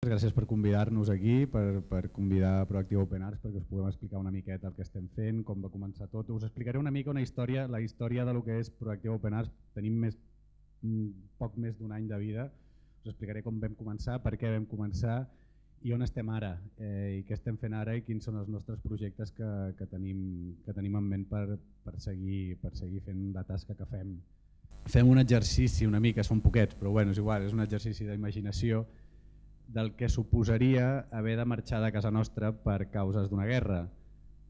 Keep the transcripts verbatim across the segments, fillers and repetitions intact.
Gràcies per convidar-nos aquí, per, per convidar a Proactiva Open Arts perquè us puguem explicar una miqueta el que estem fent, com va començar tot. Us explicaré una mica una història, la història de lo que és Proactiva Open Arts. Tenim més, poc més d'un any de vida. Us explicaré com vam començar, per què vam començar i on estem ara, eh, i què estem fent ara i quins són els nostres projectes que, que, tenim, que tenim en ment per, per, seguir, per seguir fent la tasca que fem. Fem un exercici una mica, són poquets, però bueno, és igual, és un exercici d'imaginació del que suposaria haver de marxar de casa nostra per causes d'una guerra.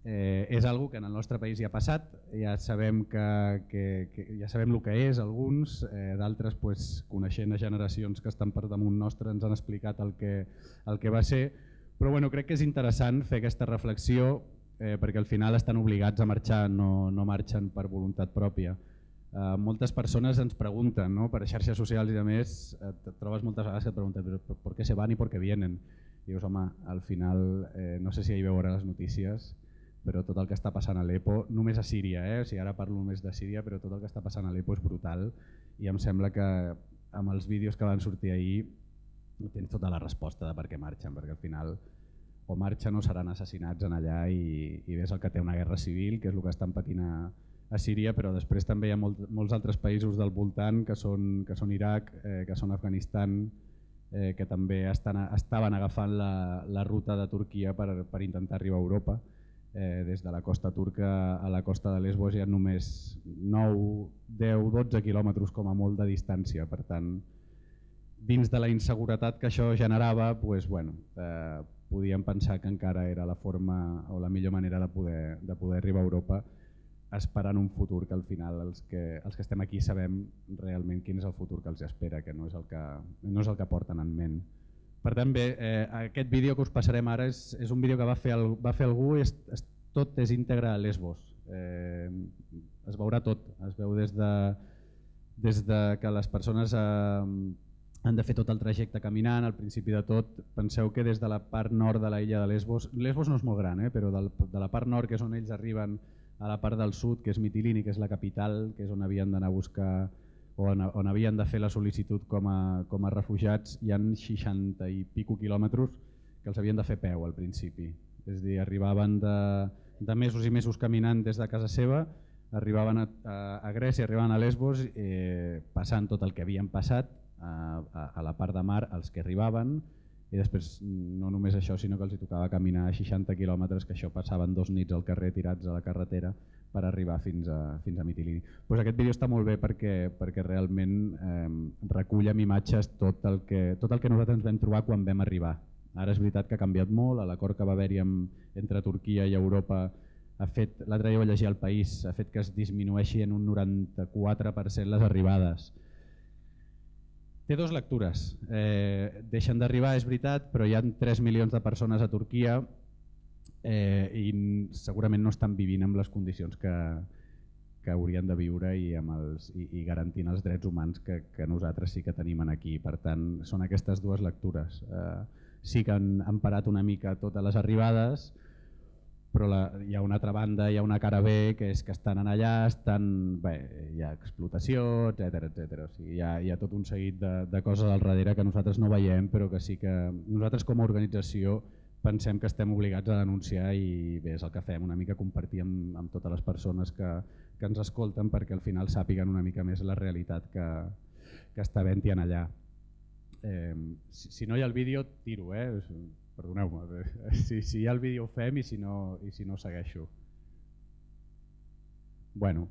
Eh, és algo que en el nostre país ja ha passat, ja sabem, que, que, que, ja sabem el que és alguns, eh, d'altres pues, coneixent a generacions que estan per damunt nostre ens han explicat el que, el que va ser, però bueno, crec que és interessant fer aquesta reflexió eh, perquè al final estan obligats a marxar, no, no marxen per voluntat pròpia. Uh, moltes persones ens pregunten, no? Per xarxes socials i a més et trobes moltes vegades que et pregunten per, per què se van i per què vienen. I dius, home, al final, eh, no sé si ahir veurà les notícies, però tot el que està passant a Alepo, només a Síria, eh? O sigui, ara parlo només de Síria, però tot el que està passant a Alepo és brutal i em sembla que amb els vídeos que van sortir ahir tens tota la resposta de per què marxen, perquè al final o marxen o seran assassinats en allà i, i ves el que té una guerra civil, que és el que estan patint a a Síria, però després també hi ha molt, molts altres països del voltant que són, que són Iraq, eh, que són Afganistan, eh, que també estan, estaven agafant la, la ruta de Turquia per, per intentar arribar a Europa. Eh, des de la costa turca a la costa de Lesbos hi ha només nou, deu, dotze quilòmetres com a molt de distància. Per tant, dins de la inseguretat que això generava, pues, bueno, eh, podíem pensar que encara era la forma o la millor manera de poder, de poder arribar a Europa, esperant un futur que al final els que, els que estem aquí sabem realment quin és el futur que els espera, que no és el que, no és el que porten en ment. Per tant, bé, eh, aquest vídeo que us passarem ara és, és un vídeo que va fer, el, va fer algú, és, és, tot és íntegre a Lesbos. Eh, es veurà tot, es veu des de, des de que les persones eh, han de fer tot el trajecte caminant. Al principi de tot, penseu que des de la part nord de la illa de Lesbos, Lesbos no és molt gran, eh, però del, de la part nord, que és on ells arriben, a la part del sud, que és Mitilini, que és la capital, que és on havien d'anar a buscar o on, on havien de fer la sol·licitud com a, com a refugiats, hi ha seixanta i pico quilòmetres que els havien de fer peu al principi. És a dir, arribaven de, de mesos i mesos caminant des de casa seva, arribaven a, a, a Grècia, arribaven a Lesbos, eh, passant tot el que havien passat a, a, a la part de mar, els que arribaven, i després no només això, sinó que els hi tocava caminar seixanta quilòmetres, que això passaven dos nits al carrer tirats a la carretera per arribar fins a, fins a Mitilini. Pues aquest vídeo està molt bé perquè, perquè realment eh, recull amb imatges tot el, que, tot el que nosaltres ens vam trobar quan vam arribar. Ara és veritat que ha canviat molt, l'acord que va haver-hi entre Turquia i Europa ha fet, l'altre dia vaig llegir al País, ha fet que es disminueixi en un noranta-quatre per cent les arribades. Té dues lectures. Eh, deixen d'arribar, és veritat, però hi ha tres milions de persones a Turquia eh, i segurament no estan vivint amb les condicions que, que haurien de viure i, amb els, i, i garantint els drets humans que, que nosaltres sí que tenim aquí. Per tant, són aquestes dues lectures. Eh, sí que han, han parat una mica totes les arribades, però la, hi ha una altra banda, hi ha una cara B, que és que estan allà, estan, bé, hi ha explotació, etcètera etcètera. O sigui, hi, ha, hi ha tot un seguit de, de coses al darrere que nosaltres no veiem, però que sí que nosaltres com a organització pensem que estem obligats a denunciar i bé, és el que fem, una mica compartir amb, amb totes les persones que, que ens escolten perquè al final sàpiguen una mica més la realitat que, que està havent-hi allà. Eh, si, si no hi ha el vídeo, tiro, eh? Perdoneu-me, si, si hi ha el vídeo ho fem i si no, i si no segueixo. Bueno,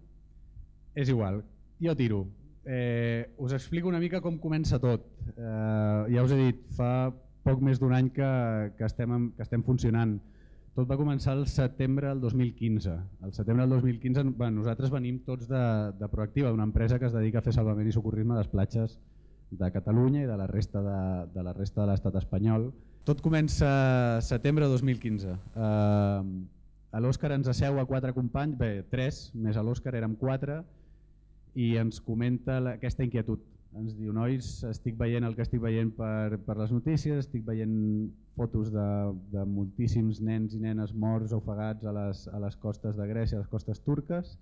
és igual, jo tiro. Eh, us explico una mica com comença tot. Eh, ja us he dit, fa poc més d'un any que, que, estem, que estem funcionant. Tot va començar el setembre del dos mil quinze. El setembre del dos mil quinze bueno, nosaltres venim tots de, de Proactiva, d'una empresa que es dedica a fer salvament i socorrisme a les platges de Catalunya i de la resta de, de la resta de l'estat espanyol. Tot comença setembre de dos mil quinze. Uh, a l'Òscar ens asseu a quatre companys, bé, tres, més a l'Òscar érem quatre, i ens comenta la, aquesta inquietud. Ens diu, nois, estic veient el que estic veient per, per les notícies, estic veient fotos de, de moltíssims nens i nenes morts o ofegats a les, a les costes de Grècia, a les costes turques,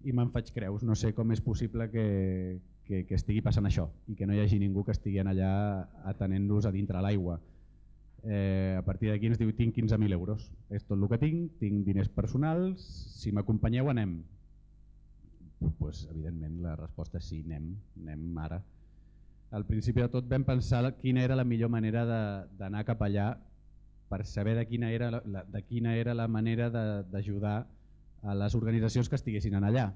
i me'n faig creus, no sé com és possible que, que, que estigui passant això i que no hi hagi ningú que estigui allà atenent-los a dintre l'aigua. Eh, a partir d'aquí ens diu tinc quinze mil euros, és tot el que tinc, tinc diners personals, si m'acompanyeu anem. Pues, evidentment la resposta és sí, anem, anem ara. Al principi de tot vam pensar quina era la millor manera d'anar cap allà per saber de quina era la, de quina era la manera d'ajudar a les organitzacions que estiguessin allà.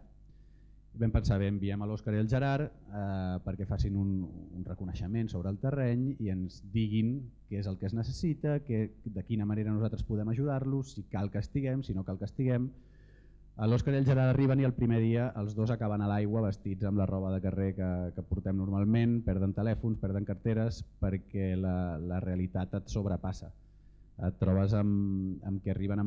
Vam pensar, bé, enviem a l'Òscar i al Gerard eh, perquè facin un, un reconeixement sobre el terreny i ens diguin què és el que es necessita, que, de quina manera nosaltres podem ajudar-los, si cal que estiguem, si no cal que estiguem. L'Òscar i el Gerard arriben i el primer dia els dos acaben a l'aigua vestits amb la roba de carrer que, que portem normalment, perden telèfons, perden carteres, perquè la, la realitat et sobrepassa. Et trobes amb, amb que arriben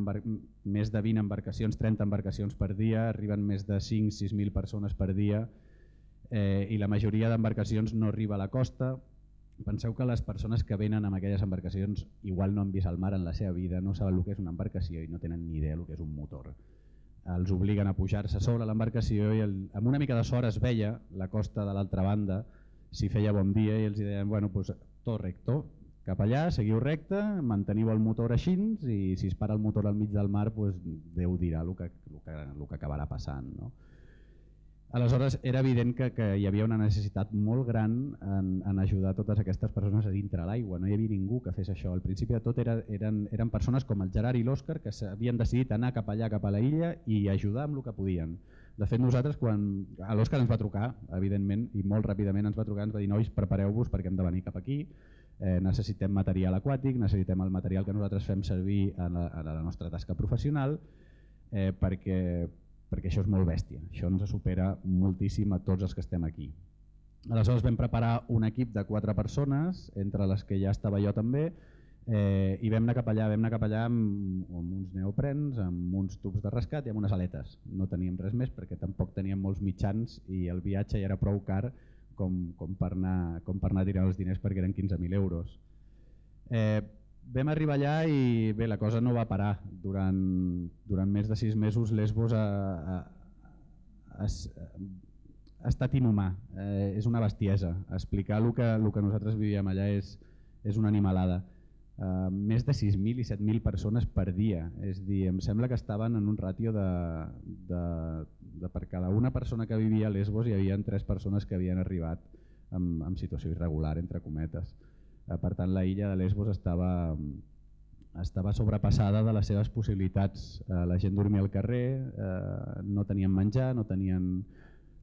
més de vint embarcacions, trenta embarcacions per dia, arriben més de cinc sis mil persones per dia eh, i la majoria d'embarcacions no arriba a la costa. Penseu que les persones que venen amb aquelles embarcacions igual no han vist el mar en la seva vida, no saben el que és una embarcació i no tenen ni idea del que és un motor. Els obliguen a pujar-se sobre l'embarcació i el, amb una mica de sort es veia la costa de l'altra banda, si feia bon dia, i els deien, bueno, pues, tot recto, cap allà, seguiu recte, manteniu el motor així i si es para el motor al mig del mar, pues, Déu dirà el que, el que, el que acabarà passant. No? Aleshores era evident que, que hi havia una necessitat molt gran en, en ajudar totes aquestes persones a dintre l'aigua, no hi havia ningú que fes això. Al principi de tot era, eren, eren persones com el Gerard i l'Òscar que havien decidit anar cap allà, cap a la illa i ajudar amb el que podien. De fet, nosaltres, quan l'Òscar ens va trucar, evidentment, i molt ràpidament ens va trucar, ens va dir, nois, prepareu-vos perquè hem de venir cap aquí, eh, necessitem material aquàtic, necessitem el material que nosaltres fem servir en la, en la nostra tasca professional, eh, perquè, perquè això és molt bèstia, això ens supera moltíssim a tots els que estem aquí. Aleshores vam preparar un equip de quatre persones, entre les que ja estava jo també, Eh, i vam anar cap allà, vam anar cap allà amb, amb uns neoprens, amb uns tubs de rescat i amb unes aletes. No teníem res més perquè tampoc teníem molts mitjans i el viatge ja era prou car com, com, per, anar, com per anar tirant els diners perquè eren quinze mil euros. Eh, vam arribar allà i bé, la cosa no va parar. Durant, durant més de sis mesos Lesbos ha, ha, ha, ha estat inhumà, eh, és una bestiesa. Explicar el que, el que nosaltres vivíem allà és, és una animalada. Uh, més de sis mil i set mil persones per dia, és dir, em sembla que estaven en un ràtio de, de, de per cada una persona que vivia a Lesbos hi havia tres persones que havien arribat en, en situació irregular, entre cometes. Uh, per tant, la illa de Lesbos estava, estava sobrepassada de les seves possibilitats. Uh, la gent dormia al carrer, uh, no tenien menjar, no tenien,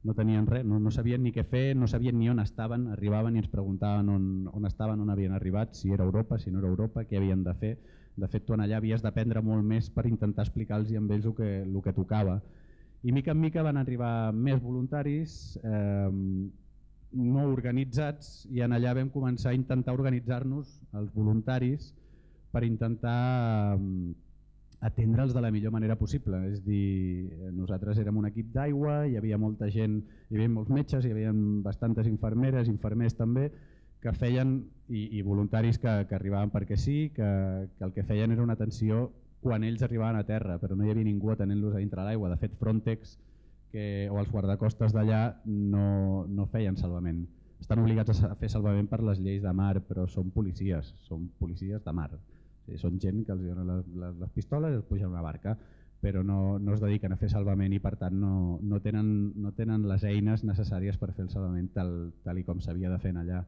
no tenien res, no, no sabien ni què fer, no sabien ni on estaven, arribaven i ens preguntaven on, on estaven, on havien arribat, si era Europa, si no era Europa, què havien de fer. De fet, tu allà havies d'aprendre molt més per intentar explicar-los amb ells el que, el que tocava. I mica en mica van arribar més voluntaris, eh, no organitzats, i en allà vam començar a intentar organitzar-nos, els voluntaris, per intentar eh, atendre'ls de la millor manera possible. És dir, nosaltres érem un equip d'aigua, hi havia molta gent, hi havia molts metges, hi havia bastantes infermeres, infermers també, que feien, i, i voluntaris que, que arribaven perquè sí, que, que el que feien era una atenció quan ells arribaven a terra, però no hi havia ningú atenent-los a dintre l'aigua. De fet, Frontex que, o els guardacostes d'allà no, no feien salvament. Estan obligats a fer salvament per les lleis de mar, però són policies, són policies de mar. Sí, són gent que els donen les, les, les pistoles i els pugen a una barca, però no, no es dediquen a fer salvament i per tant no, no, tenen, no tenen les eines necessàries per fer el salvament tal, tal i com s'havia de fer allà.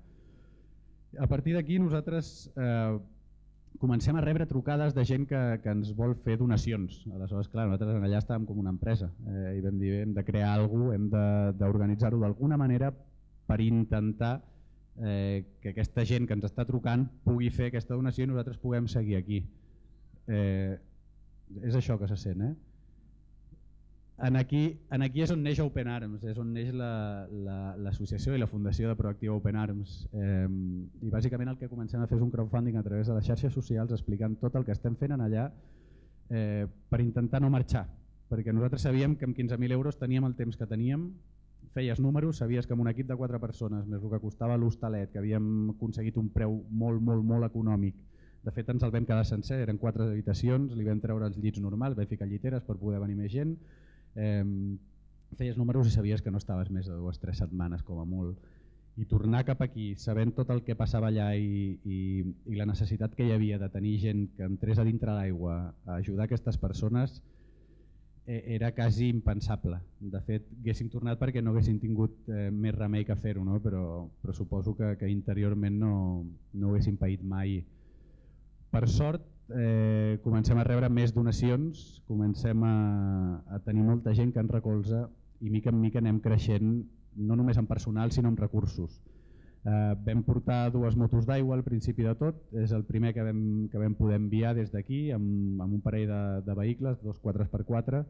A partir d'aquí nosaltres eh, comencem a rebre trucades de gent que, que ens vol fer donacions. Aleshores, clar, nosaltres allà estàvem com una empresa eh, i vam dir hem de crear alguna cosa, hem d'organitzar-ho d'alguna manera per intentar Eh, que aquesta gent que ens està trucant pugui fer aquesta donació i nosaltres puguem seguir aquí. Eh, és això que se sent. Eh? En, aquí, en aquí és on neix Open Arms, és on neix l'associació la, la, i la fundació de Proactiva Open Arms. Eh, I bàsicament el que comencem a fer és un crowdfunding a través de les xarxes socials explicant tot el que estem fent en allà eh, per intentar no marxar, perquè nosaltres sabíem que amb quinze mil euros teníem el temps que teníem, feies números, sabies que amb un equip de quatre persones, més el que costava l'hostalet, que havíem aconseguit un preu molt, molt, molt econòmic. De fet, ens el vam quedar sencer, eren quatre habitacions, li vam treure els llits normals, vam ficar lliteres per poder venir més gent. Eh, feies números i sabies que no estaves més de dues o tres setmanes com a molt. I tornar cap aquí, sabent tot el que passava allà i, i, i la necessitat que hi havia de tenir gent que entrés a dintre l'aigua a ajudar aquestes persones, eh, era quasi impensable. De fet, haguéssim tornat perquè no haguéssim tingut eh, més remei que fer-ho, no? però, però suposo que, que interiorment no, no ho haguéssim paït mai. Per sort, eh, comencem a rebre més donacions, comencem a, a tenir molta gent que ens recolza i mica en mica anem creixent, no només en personal sinó en recursos. Eh, vam portar dues motos d'aigua al principi de tot, és el primer que vam, que vam poder enviar des d'aquí amb, amb un parell de, de vehicles, dos quatre per quatre.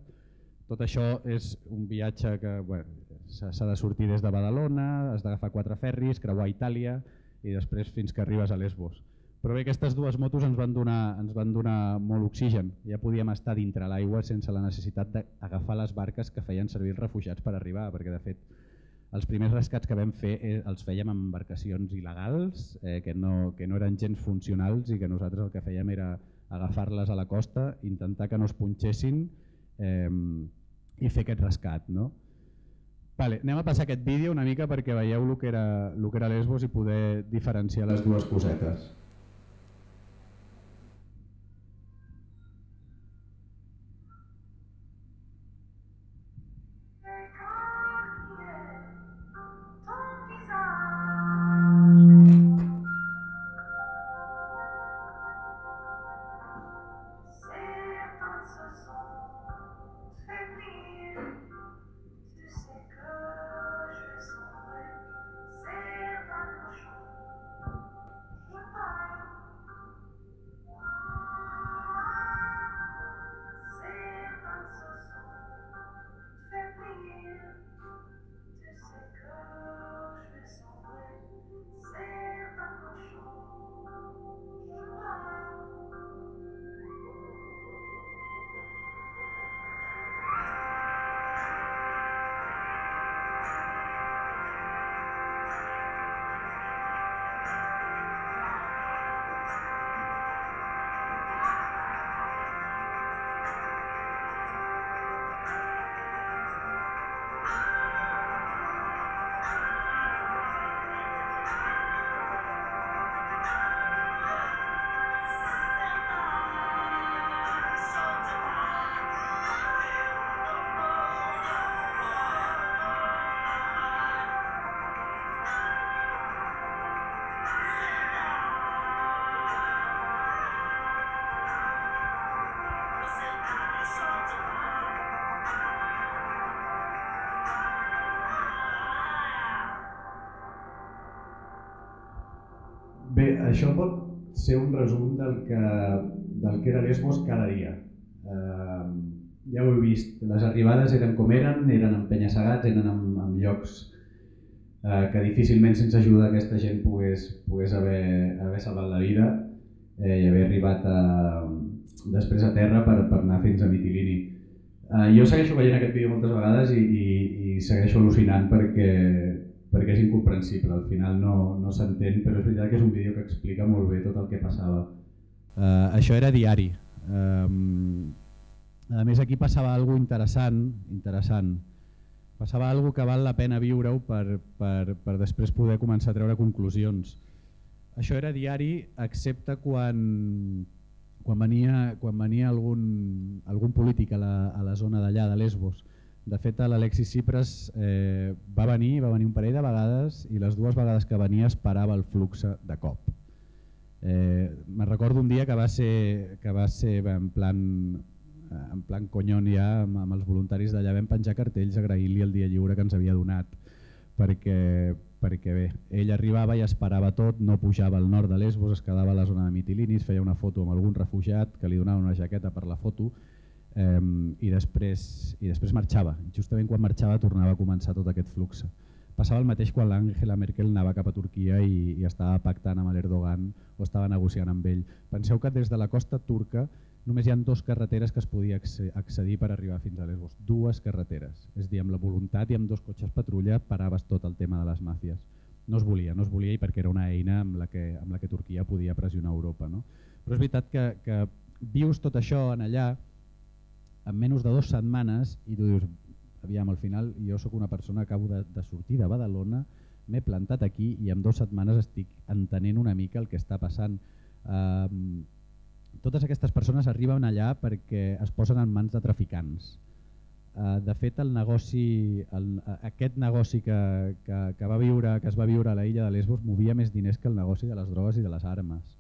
Tot això és un viatge que bueno, s'ha de sortir des de Badalona, has d'agafar quatre ferris, creuar Itàlia i després fins que arribes a Lesbos. Però bé, aquestes dues motos ens van donar, ens van donar molt oxigen. Ja podíem estar dintre l'aigua sense la necessitat d'agafar les barques que feien servir els refugiats per arribar, perquè de fet els primers rescats que vam fer eh, els fèiem amb embarcacions il·legals, eh, que, no, que no eren gens funcionals i que nosaltres el que fèiem era agafar-les a la costa, intentar que no es punxessin eh, i fer aquest rescat. No? Vale, anem a passar aquest vídeo una mica perquè veieu el que era, el que era Lesbos i poder diferenciar les dues cosetes. Bé, això pot ser un resum del que, del que era Lesbos cada dia. Eh, ja ho he vist, les arribades eren com eren, eren en penya-segats, eren en, en llocs eh, que difícilment sense ajuda aquesta gent pogués, pogués haver, haver salvat la vida eh, i haver arribat a, després a terra per, per anar fins a Mitilini. Eh, jo segueixo veient aquest vídeo moltes vegades i, i, i segueixo al·lucinant perquè perquè és incomprensible, al final no, no s'entén, però és veritat que és un vídeo que explica molt bé tot el que passava. Uh, això era diari. Um, a més, aquí passava alguna interessant, interessant. Passava alguna que val la pena viure-ho per, per, per després poder començar a treure conclusions. Això era diari, excepte quan, quan venia, quan venia algun, algun polític a la, a la zona d'allà, de Lesbos. De fet, l'Alexis Tsipras eh, va venir, va venir un parell de vegades i les dues vegades que venia es parava el flux de cop. Eh, me recordo un dia que va ser, que va ser en plan, en plan conyon ja amb, amb els voluntaris d'allà, vam penjar cartells agraint-li el dia lliure que ens havia donat perquè, perquè bé, ell arribava i esperava tot, no pujava al nord de Lesbos, es quedava a la zona de Mitilini, es feia una foto amb algun refugiat que li donava una jaqueta per la foto Um, i, després, i després marxava. Justament quan marxava tornava a començar tot aquest flux. Passava el mateix quan l'Angela Merkel anava cap a Turquia i, i estava pactant amb l'Erdogan o estava negociant amb ell. Penseu que des de la costa turca només hi ha dues carreteres que es podia accedir per arribar fins a Lesbos. Dues carreteres. És a dir, amb la voluntat i amb dos cotxes patrulla paraves tot el tema de les màfies. No es volia, no es volia i perquè era una eina amb la que, amb la que Turquia podia pressionar Europa. No? Però és veritat que, que vius tot això en allà en menys de dues setmanes i tu dius, aviam, al final jo sóc una persona que acabo de, de sortir de Badalona, m'he plantat aquí i en dues setmanes estic entenent una mica el que està passant. Um, totes aquestes persones arriben allà perquè es posen en mans de traficants. Uh, de fet, el negoci, el, aquest negoci que, que, que, va viure, que es va viure a la illa de Lesbos movia més diners que el negoci de les drogues i de les armes.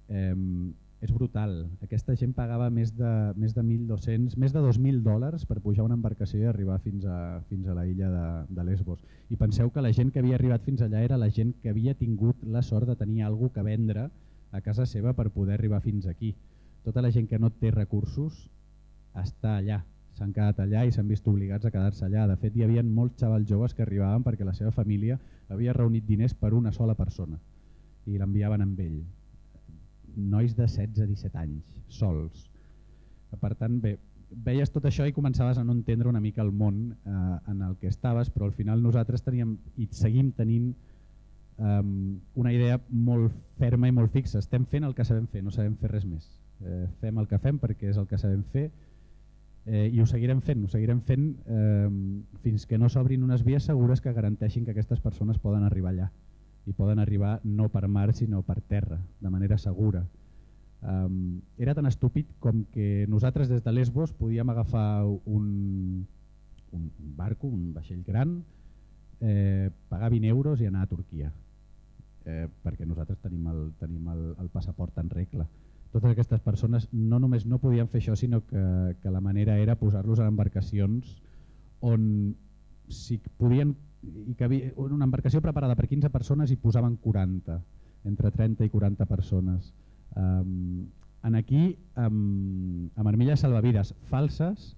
Um, és brutal. Aquesta gent pagava més de, més de mil dos-cents, més de dos mil dòlars per pujar una embarcació i arribar fins a, fins a la illa de, de Lesbos. I penseu que la gent que havia arribat fins allà era la gent que havia tingut la sort de tenir alguna cosa que vendre a casa seva per poder arribar fins aquí. Tota la gent que no té recursos està allà. S'han quedat allà i s'han vist obligats a quedar-se allà. De fet, hi havia molts xavals joves que arribaven perquè la seva família havia reunit diners per una sola persona i l'enviaven amb ell. Nois de setze a disset anys, sols. Per tant, bé, veies tot això i començaves a no entendre una mica el món eh, en el que estaves, però al final nosaltres teníem i seguim tenint um, una idea molt ferma i molt fixa. Estem fent el que sabem fer, no sabem fer res més. Eh, fem el que fem perquè és el que sabem fer. Eh, i ho seguirem fent, ho seguirem fent eh, fins que no s'obrin unes vies segures que garanteixin que aquestes persones poden arribar allà i poden arribar no per mar sinó per terra, de manera segura. Um, era tan estúpid com que nosaltres des de Lesbos podíem agafar un, un, un barco, un vaixell gran, eh, pagar vint euros i anar a Turquia, eh, perquè nosaltres tenim el, tenim el, el passaport en regla. Totes aquestes persones no només no podien fer això, sinó que, que la manera era posar-los en embarcacions on si podien, i que havia una embarcació preparada per quinze persones i posaven quaranta, entre trenta i quaranta persones. Um, en aquí, um, amb armilles salvavides falses,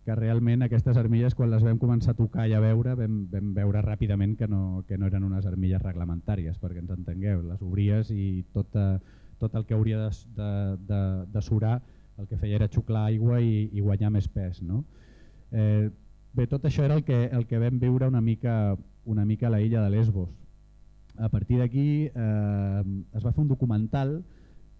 que realment aquestes armilles quan les vam començar a tocar i a veure vam, vam veure ràpidament que no, que no eren unes armilles reglamentàries, perquè ens entengueu, les obries i tota tot el que hauria de, de, de, de surar el que feia era xuclar aigua i, i guanyar més pes. No? Eh, bé, tot això era el que, el que vam viure una mica, una mica a la illa de Lesbos. A partir d'aquí eh, es va fer un documental,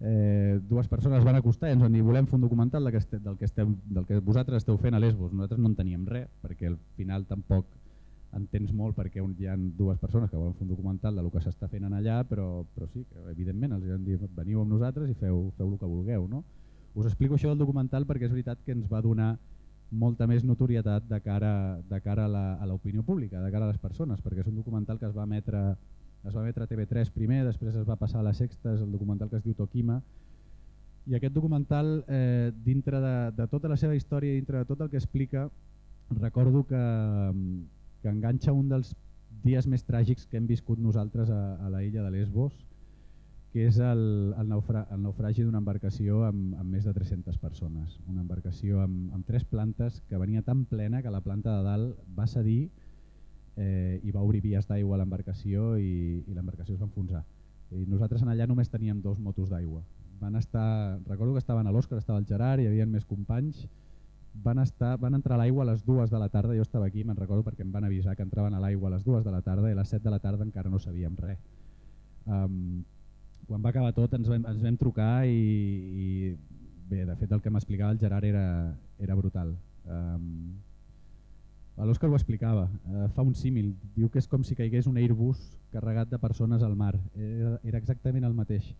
eh, dues persones van acostar i ens van dir volem fer un documental del que, este, del, que estem, del que vosaltres esteu fent a Lesbos. Nosaltres no en teníem res, perquè al final tampoc entens molt perquè hi ha dues persones que volen fer un documental del que s'està fent allà, però, però sí, que evidentment els vam dir veniu amb nosaltres i feu, feu el que vulgueu. No? Us explico això del documental perquè és veritat que ens va donar molta més notorietat de cara, de cara a l'opinió pública, de cara a les persones, perquè és un documental que es va emetre, es va emetre a T V tres primer, després es va passar a la Sexta, és el documental que es diu Tokima, i aquest documental, eh, dintre de, de tota la seva història, dintre de tot el que explica, recordo que que enganxa un dels dies més tràgics que hem viscut nosaltres a, a la illa de Lesbos, que és el, el, naufra, el naufragi d'una embarcació amb, amb més de tres-centes persones. Una embarcació amb, amb tres plantes que venia tan plena que la planta de dalt va cedir eh, i va obrir vies d'aigua a l'embarcació i, i l'embarcació es va enfonsar. I nosaltres en allà només teníem dos motos d'aigua. Van estar, recordo que estaven a l'Òscar, estava el Gerard, hi havia més companys. Van, estar, van entrar a l'aigua a les dues de la tarda, jo estava aquí, me'n recordo perquè em van avisar que entraven a l'aigua a les dues de la tarda i a les set de la tarda encara no sabíem res. Um, quan va acabar tot ens vam, ens vam trucar i, i bé, de fet el que m'explicava el Gerard era, era brutal. Um, L'Òscar ho explicava, uh, fa un símil, diu que és com si caigués un Airbus carregat de persones al mar, era, era exactament el mateix.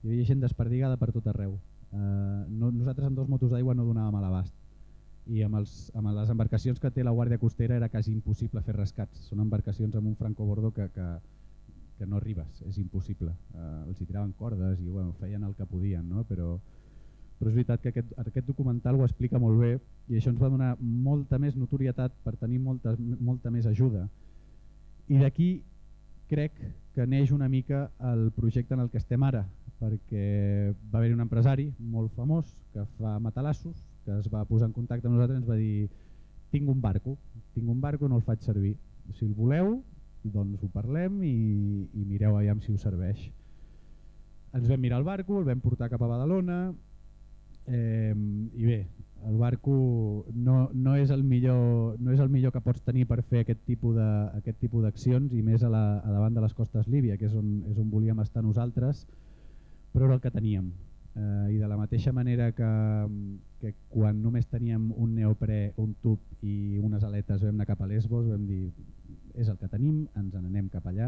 Hi havia gent desperdigada per tot arreu. Uh, no, nosaltres amb dos motos d'aigua no donàvem a l'abast. I amb, els, amb les embarcacions que té la Guàrdia Costera era quasi impossible fer rescats. Són embarcacions amb un francobordo que, que, que no arribes, és impossible. Uh, els hi tiraven cordes i bueno, feien el que podien, no? però, però és veritat que aquest, aquest documental ho explica molt bé i això ens va donar molta més notorietat per tenir molta, molta més ajuda. I d'aquí crec que neix una mica el projecte en el que estem ara, perquè va haver-hi un empresari molt famós que fa matalassos, que es va posar en contacte amb nosaltres i ens va dir tinc un barco, tinc un barco, no el faig servir. Si el voleu, doncs ho parlem i, i mireu aviam si us serveix. Ens vam mirar el barco, el vam portar cap a Badalona eh, i bé, el barco no, no, és el millor, no és el millor que pots tenir per fer aquest tipus de, aquest tipus d'accions i més a, la, a davant de les costes Líbia, que és on, és on volíem estar nosaltres, però era el que teníem. Eh, I de la mateixa manera que, que quan només teníem un neoprè, un tub i unes aletes vam anar cap a Lesbos, vam dir és el que tenim, ens n'anem cap allà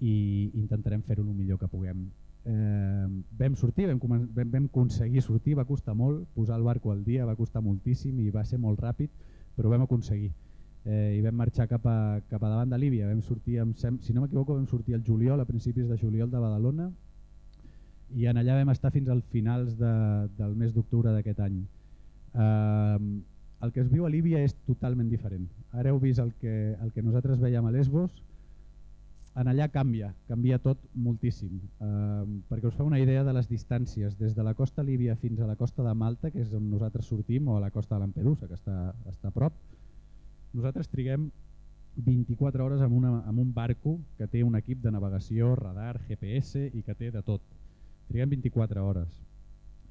i intentarem fer-ho el millor que puguem. Eh, vam sortir, vam, vam, vam aconseguir sortir, va costar molt, posar el barco al dia va costar moltíssim i va ser molt ràpid, però vam aconseguir. Eh, I vam marxar cap a, cap a davant de Líbia, vam sortir, amb, si no m'equivoco, vam sortir al juliol, a principis de juliol de Badalona, i en allà vam estar fins al finals de, del mes d'octubre d'aquest any. Eh, el que es viu a Líbia és totalment diferent. Ara heu vist el que, el que nosaltres veiem a Lesbos, en allà canvia, canvia tot moltíssim. Eh, perquè us fa una idea de les distàncies, des de la costa líbia fins a la costa de Malta, que és on nosaltres sortim, o a la costa de Lampedusa, que està, està a prop, nosaltres triguem vint-i-quatre hores amb, una, amb un barco que té un equip de navegació, radar, G P S i que té de tot. Triguem vint-i-quatre hores.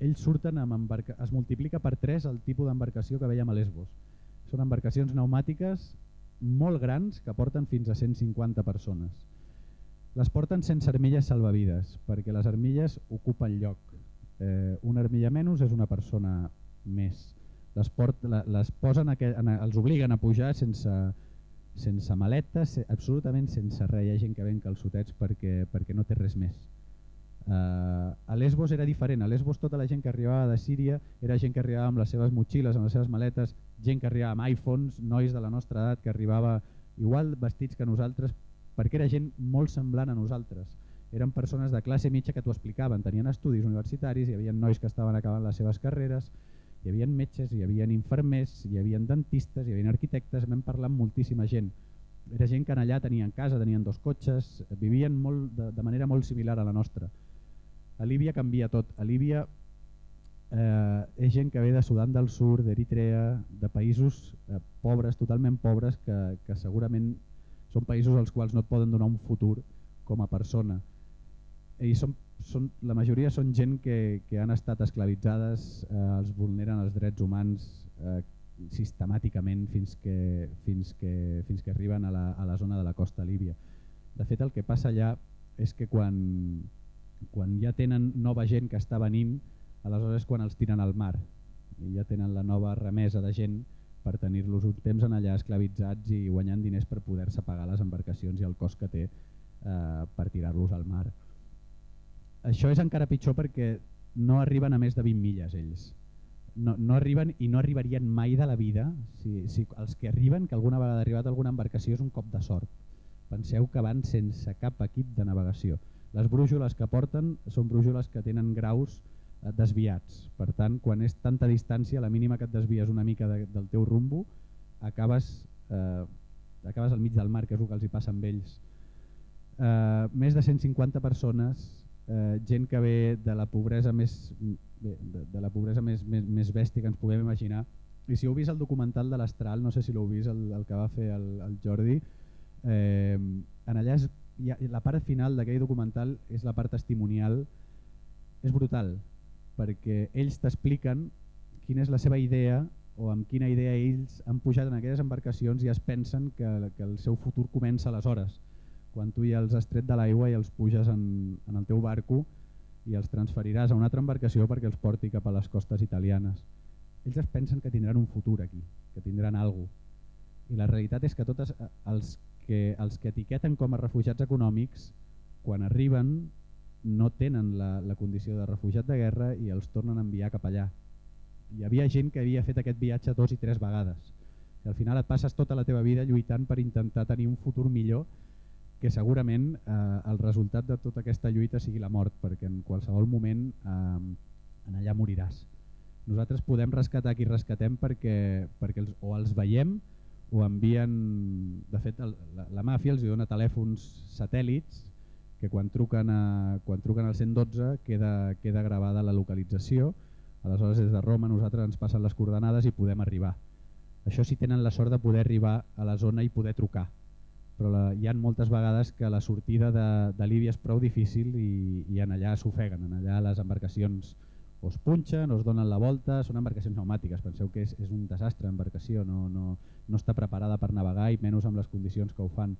Ells surten amb embarca... es multiplica per tres el tipus d'embarcació que veiem a Lesbos. Són embarcacions pneumàtiques molt grans que porten fins a cent cinquanta persones. Les porten sense armilles salvavides, perquè les armilles ocupen lloc. Eh, una armilla menys és una persona més. Les, port, les posen a que, a, els obliguen a pujar sense, sense maletes, absolutament sense res. Hi ha gent que ven calçotets perquè, perquè no té res més. Uh, a Lesbos era diferent. A Lesbos tota la gent que arribava de Síria era gent que arribava amb les seves motxilles, amb les seves maletes, gent que arribava amb iPhones, nois de la nostra edat que arribava igual vestits que nosaltres, perquè era gent molt semblant a nosaltres. Eren persones de classe mitja que t'ho explicaven, tenien estudis universitaris, hi havia nois que estaven acabant les seves carreres, hi havia metges, hi havia infermers, hi havia dentistes, hi havia arquitectes, vam parlar amb moltíssima gent. Era gent que allà tenien casa, tenien dos cotxes, vivien molt, de, de manera molt similar a la nostra. A Líbia canvia tot. A Líbia eh, és gent que ve de Sudan del Sud, d'Eritrea, de països eh, pobres, totalment pobres, que, que segurament són països als quals no et poden donar un futur com a persona. I són, són, la majoria són gent que, que han estat esclavitzades, eh, els vulneren els drets humans eh, sistemàticament fins que, fins que, fins que arriben a la, a la zona de la costa líbia. De fet, el que passa allà és que quan quan ja tenen nova gent que està venint, aleshores quan els tiren al mar i ja tenen la nova remesa de gent per tenir-los un temps en allà esclavitzats i guanyant diners per poder-se pagar les embarcacions i el cost que té eh, per tirar-los al mar. Això és encara pitjor perquè no arriben a més de vint milles ells. No, no arriben i no arribarien mai de la vida. Si, si els que arriben, que alguna vegada ha arribat a alguna embarcació, és un cop de sort. Penseu que van sense cap equip de navegació. Les brúixoles que porten són brúixoles que tenen graus eh, desviats. Per tant, quan és tanta distància, la mínima que et desvies una mica de, del teu rumbo, acabes, eh, acabes al mig del mar, que és el que els hi passa amb ells. Eh, més de cent cinquanta persones, eh, gent que ve de la pobresa més, bé, de, de la pobresa més, més, més bèstia que ens puguem imaginar. I si heu vist el documental de l'Astral, no sé si l'heu vist, el, el que va fer el, el Jordi, eh, en allà és Ja, la part final d'aquell documental és la part testimonial, és brutal, perquè ells t'expliquen quina és la seva idea o amb quina idea ells han pujat en aquelles embarcacions i es pensen que, que el seu futur comença aleshores, quan tu ja els has tret de l'aigua i els puges en, en el teu barco i els transferiràs a una altra embarcació perquè els porti cap a les costes italianes. Ells es pensen que tindran un futur aquí, que tindran alguna cosa. I la realitat és que tots els que els que etiqueten com a refugiats econòmics, quan arriben no tenen la, la condició de refugiat de guerra i els tornen a enviar cap allà. Hi havia gent que havia fet aquest viatge dos i tres vegades. I al final et passes tota la teva vida lluitant per intentar tenir un futur millor, que segurament eh, el resultat de tota aquesta lluita sigui la mort, perquè en qualsevol moment eh, en allà moriràs. Nosaltres podem rescatar qui rescatem perquè, perquè els, o els veiem o envien, de fet el, la, la màfia els dona telèfons satèl·lits que quan truquen, a, quan truquen al cent dotze queda, queda gravada la localització, aleshores des de Roma nosaltres ens passen les coordenades i podem arribar. Això sí tenen la sort de poder arribar a la zona i poder trucar, però la, hi ha moltes vegades que la sortida de, de Líbia és prou difícil i, i en allà s'ofeguen, en allà les embarcacions o es punxen o es donen la volta, són embarcacions pneumàtiques, penseu que és, és un desastre l'embarcació, no, no, no està preparada per navegar i menys amb les condicions que ho fan,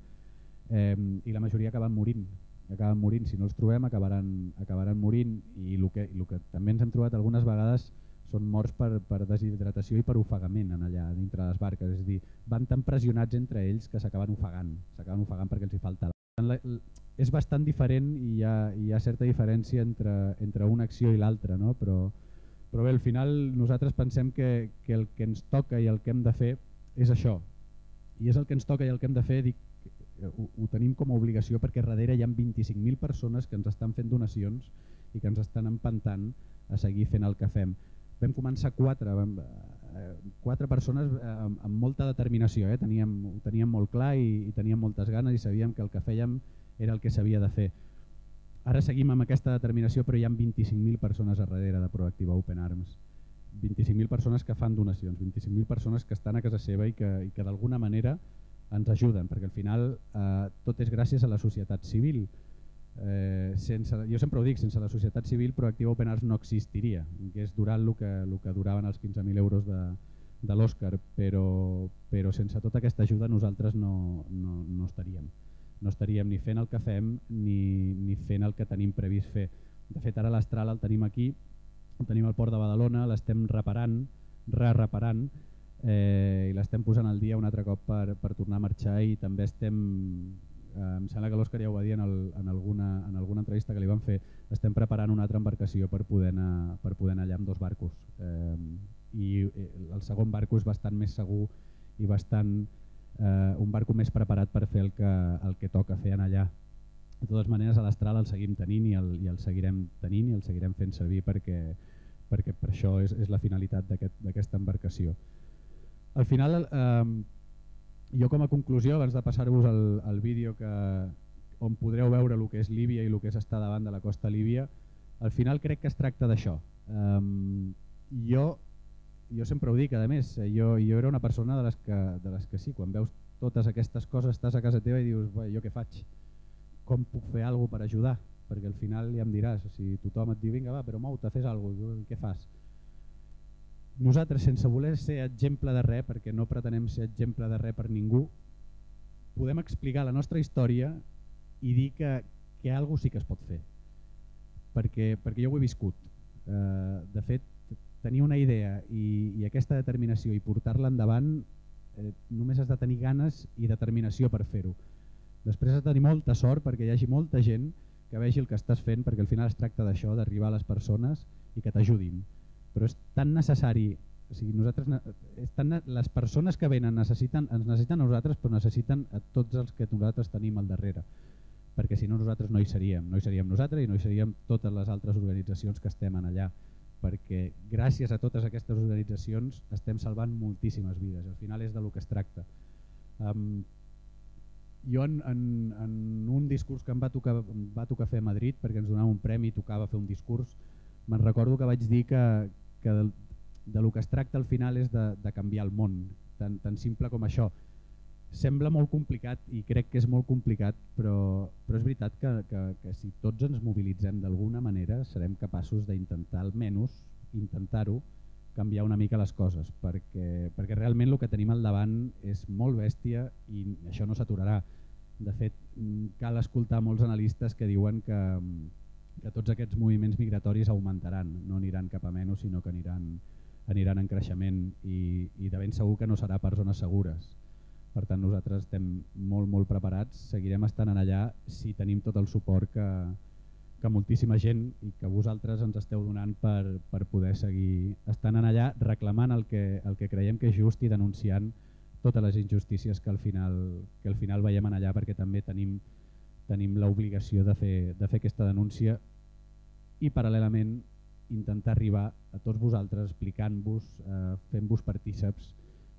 eh, i la majoria acaben morint. acaben morint. Si no els trobem acabaran, acabaran morint, i el que, el que també ens hem trobat algunes vegades són morts per, per deshidratació i per ofegament en allà dintre les barques, és a dir, van tan pressionats entre ells que s'acaben ofegant, s'acaben ofegant perquè els hi falta l'aigua. És bastant diferent i hi ha, hi ha certa diferència entre, entre una acció i l'altra, no? però, però bé, al final nosaltres pensem que, que el que ens toca i el que hem de fer és això, i és el que ens toca i el que hem de fer, dic, ho, ho tenim com a obligació perquè darrere hi ha vint-i-cinc mil persones que ens estan fent donacions i que ens estan empantant a seguir fent el que fem. Vam començar quatre, vam, eh, quatre persones eh, amb, amb molta determinació, eh? teníem, ho teníem molt clar i, i teníem moltes ganes i sabíem que el que fèiem era el que s'havia de fer. Ara seguim amb aquesta determinació, però hi ha vint-i-cinc mil persones a darrere de Proactiva Open Arms. vint-i-cinc mil persones que fan donacions, vint-i-cinc mil persones que estan a casa seva i que, i que d'alguna manera ens ajuden, perquè al final eh, tot és gràcies a la societat civil. Eh, sense, jo sempre ho dic, sense la societat civil Proactiva Open Arms no existiria, que és durant el que, el que duraven els quinze mil euros de, de l'Òscar, però, però sense tota aquesta ajuda nosaltres no, no, no estaríem. No estaríem ni fent el que fem ni, ni fent el que tenim previst fer. De fet, ara l'Astral el tenim aquí, el tenim al Port de Badalona, l'estem reparant, re-reparant, eh, i l'estem posant al dia un altre cop per, per tornar a marxar, i també estem... Eh, em sembla que l'Òscar ja ho va dir en, el, en, alguna, en alguna entrevista que li van fer, estem preparant una altra embarcació per poder anar, per poder anar allà amb dos barcos. Eh, I el segon barco és bastant més segur i bastant eh, un barco més preparat per fer el que, el que toca fer en allà. De totes maneres, a l'Astral el seguim tenint i el, i el seguirem tenint i el seguirem fent servir perquè, perquè per això és, és la finalitat d'aquesta aquest, embarcació. Al final, eh, jo com a conclusió, abans de passar-vos el, el vídeo que, on podreu veure el que és Líbia i el que és estar davant de la costa líbia, al final crec que es tracta d'això. Um, jo, jo sempre ho dic, a més, jo, jo era una persona de les, que, de les que sí, quan veus totes aquestes coses estàs a casa teva i dius, jo què faig? Com puc fer alguna cosa per ajudar? Perquè al final ja em diràs, si tothom et diu, vinga va, però mou-te, fes alguna cosa, què fas? Nosaltres, sense voler ser exemple de res, perquè no pretenem ser exemple de res per ningú, podem explicar la nostra història i dir que, que alguna cosa sí que es pot fer. Perquè, perquè jo ho he viscut. Eh, de fet, tenir una idea i, i aquesta determinació i portar-la endavant, eh, només has de tenir ganes i determinació per fer-ho. Després has de tenir molta sort perquè hi hagi molta gent que vegi el que estàs fent, perquè al final es tracta d'això, d'arribar a les persones i que t'ajudin. Però és tan necessari, o sigui, nosaltres, és tan, les persones que venen necessiten, ens necessiten a nosaltres, però necessiten a tots els que nosaltres tenim al darrere, perquè si no nosaltres no hi seríem, no hi seríem nosaltres i no hi seríem totes les altres organitzacions que estem en allà, perquè gràcies a totes aquestes organitzacions estem salvant moltíssimes vides, al final és de lo que es tracta. Um, jo en, en, en un discurs que em va tocar, em va tocar fer a Madrid, perquè ens donava un premi i tocava fer un discurs, me'n recordo que vaig dir que, que de, de lo que es tracta al final és de, de canviar el món, tan, tan simple com això. Sembla molt complicat i crec que és molt complicat, però, però és veritat que, que, que si tots ens mobilitzem d'alguna manera serem capaços d'intentar almenys intentar-ho, canviar una mica les coses, perquè, perquè realment el que tenim al davant és molt bèstia i això no s'aturarà. De fet, cal escoltar molts analistes que diuen que que tots aquests moviments migratoris augmentaran, no aniran cap a menys, sinó que aniran, aniran en creixement i, i de ben segur que no serà per zones segures. Per tant, nosaltres estem molt, molt preparats, seguirem estant allà si tenim tot el suport que, que moltíssima gent i que vosaltres ens esteu donant per, per poder seguir estant allà reclamant el que, el que creiem que és just i denunciant totes les injustícies que al final, que al final veiem allà, perquè també tenim tenim l'obligació de, fer, de fer aquesta denúncia i paral·lelament intentar arribar a tots vosaltres explicant-vos, eh, fent-vos partíceps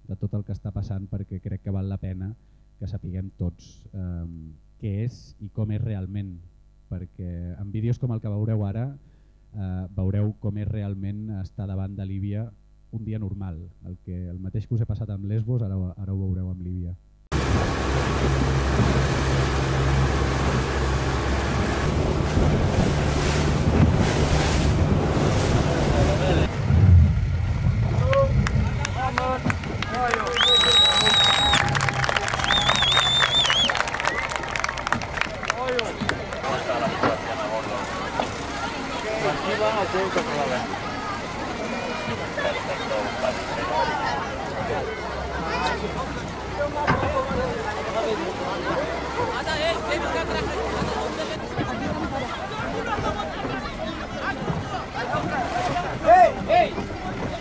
de tot el que està passant, perquè crec que val la pena que sapiguem tots eh, què és i com és realment, perquè en vídeos com el que veureu ara eh, veureu com és realment estar davant de Líbia un dia normal, el, que, el mateix que us he passat amb Lesbos, ara, ara ho veureu amb Líbia.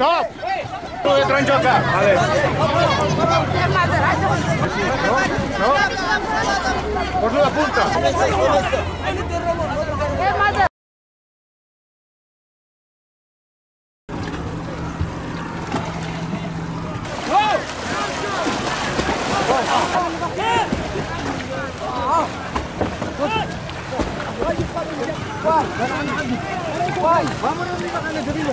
Stop! Tu entra in gioca! Vale. No? No? Poso la punta! Vai, vámonos arriba con el segundo.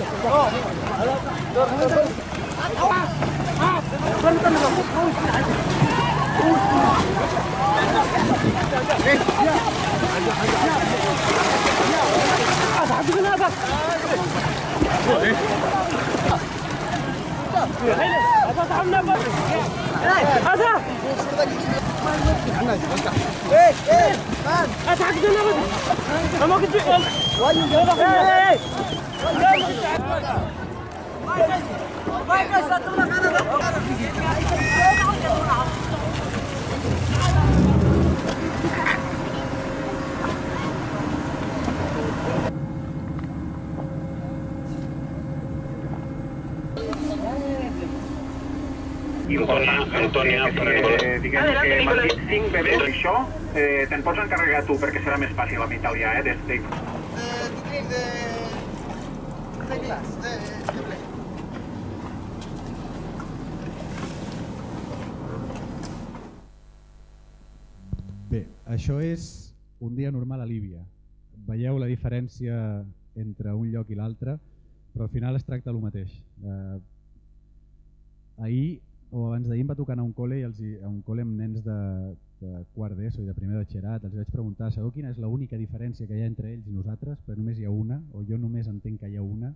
Antònia, eh, diguem que m'han dit cinc bebès. Això eh, te'n pots encarregar tu perquè serà més fàcil a mi italià, eh? Des de... de... de glaç, de... de ple. Bé, això és un dia normal a Líbia. Veieu la diferència entre un lloc i l'altre, però al final es tracta del mateix. Eh, ahir o abans d'ahir em va tocar anar a un col·le, i els, a un col·le amb nens de, de quart d'ESO i de primer de batxillerat. Els vaig preguntar, sabeu quina és l'única diferència que hi ha entre ells i nosaltres? Però només hi ha una, o jo només entenc que hi ha una,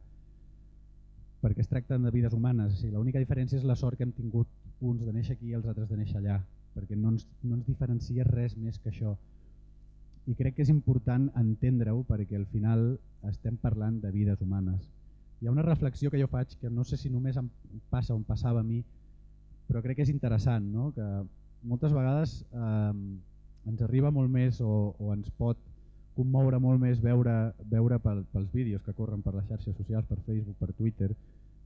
perquè es tracten de vides humanes. O sigui, l'única diferència és la sort que hem tingut uns de néixer aquí i els altres de néixer allà, perquè no ens, no ens diferencia res més que això. I crec que és important entendre-ho perquè al final estem parlant de vides humanes. Hi ha una reflexió que jo faig que no sé si només em passa o em passava a mi, però crec que és interessant, no? Que moltes vegades eh, ens arriba molt més o, o ens pot commoure molt més veure, veure pel, pels vídeos que corren per les xarxes socials, per Facebook, per Twitter,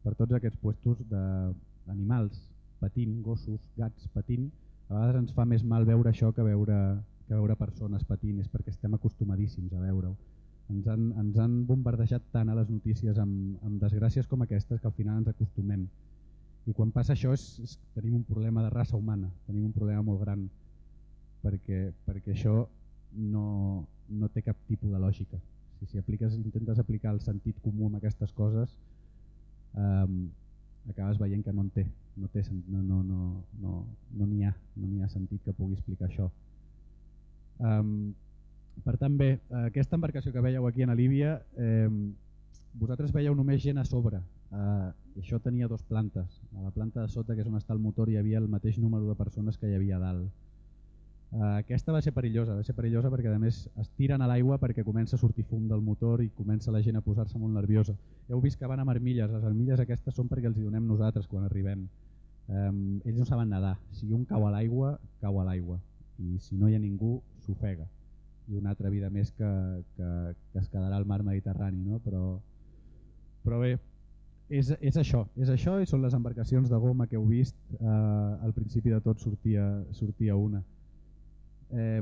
per tots aquests puestos d'animals patint, gossos, gats patint. A vegades ens fa més mal veure això que veure, que veure persones patint, és perquè estem acostumadíssims a veure-ho. Ens han, ens han bombardejat tant a les notícies amb, amb desgràcies com aquestes que al final ens acostumem. I quan passa això és, és, tenim un problema de raça humana, tenim un problema molt gran, perquè, perquè això no, no té cap tipus de lògica. Si, si apliques, intentes aplicar el sentit comú amb aquestes coses, eh, acabes veient que no en té, no té no, no, no, no, no n'hi ha, no n'hi ha sentit que pugui explicar això. Um, per tant bé, aquesta embarcació que veieu aquí a Líbia, eh, vosaltres veieu només gent a sobre. Uh, això tenia dues plantes. A la planta de sota, que és on està el motor, hi havia el mateix número de persones que hi havia a dalt. Uh, aquesta va ser perillosa, va ser perillosa perquè a més es tiren a l'aigua perquè comença a sortir fum del motor i comença la gent a posar-se molt nerviosa. Heu vist que van amb armilles, les armilles aquestes són perquè els hi donem nosaltres quan arribem. Um, ells no saben nedar, si un cau a l'aigua, cau a l'aigua, i si no hi ha ningú, s'ofega. I una altra vida més que, que, que es quedarà al mar Mediterrani, no? Però, però bé, És, és això, és això i són les embarcacions de goma que heu vist, eh, al principi de tot sortia, sortia una. Eh,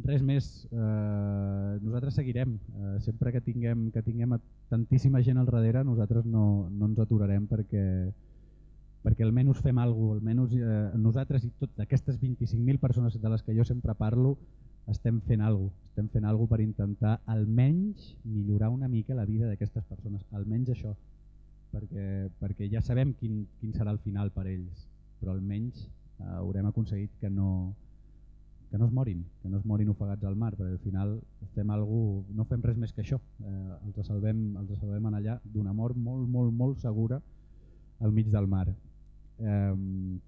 res més, eh, nosaltres seguirem, eh, sempre que tinguem, que tinguem tantíssima gent al darrere nosaltres no, no ens aturarem perquè, perquè almenys fem alguna cosa, almenys eh, nosaltres i totes aquestes vint-i-cinc mil persones de les que jo sempre parlo estem fent alguna cosa, estem fent alguna cosa per intentar almenys millorar una mica la vida d'aquestes persones, almenys això, perquè, perquè ja sabem quin, quin serà el final per ells, però almenys eh, haurem aconseguit que no, que no es morin, que no es morin ofegats al mar, perquè al final fem alguna cosa, no fem res més que això, eh, els salvem, els salvem en allà d'una mort molt, molt, molt segura al mig del mar. Eh,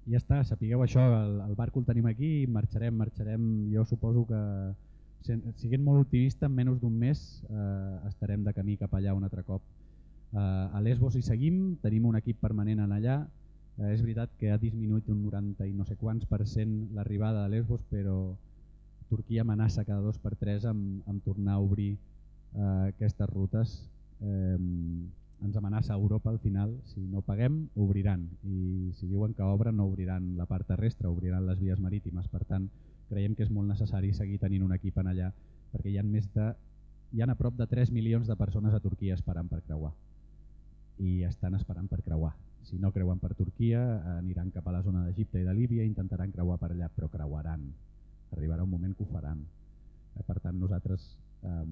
ja està, sapigueu això, el, el barco el tenim aquí, marxarem, marxarem, jo suposo que siguent molt optimista, en menys d'un mes eh, estarem de camí cap allà un altre cop. Eh, a Lesbos hi seguim, tenim un equip permanent en allà. Eh, és veritat que ha disminuït un noranta i no sé quants per cent l'arribada a Lesbos, però Turquia amenaça cada dos per tres amb, amb tornar a obrir eh, aquestes rutes. Eh, ens amenaça a Europa al final, si no paguem obriran, i si diuen que obren no obriran la part terrestre, obriran les vies marítimes. Per tant, creiem que és molt necessari seguir tenint un equip en allà, perquè hi ha més de, hi ha a prop de tres milions de persones a Turquia esperant per creuar, i estan esperant per creuar. Si no creuen per Turquia, aniran cap a la zona d'Egipte i de Líbia i intentaran creuar per allà, però creuaran. Arribarà un moment que ho faran. Per tant, nosaltres eh,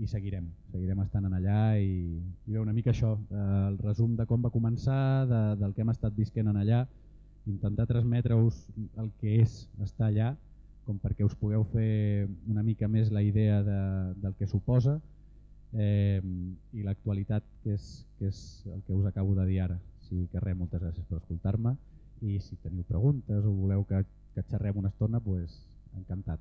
hi seguirem, seguirem estant en allà i, i bé, una mica això, eh, el resum de com va començar, de, del que hem estat visquent en allà, intentar transmetre-us el que és estar allà, com perquè us pugueu fer una mica més la idea de, del que suposa eh, i l'actualitat, que és, que és el que us acabo de dir ara. Així que res, moltes gràcies per escoltar-me, i si teniu preguntes o voleu que, que xerrem una estona, doncs encantat.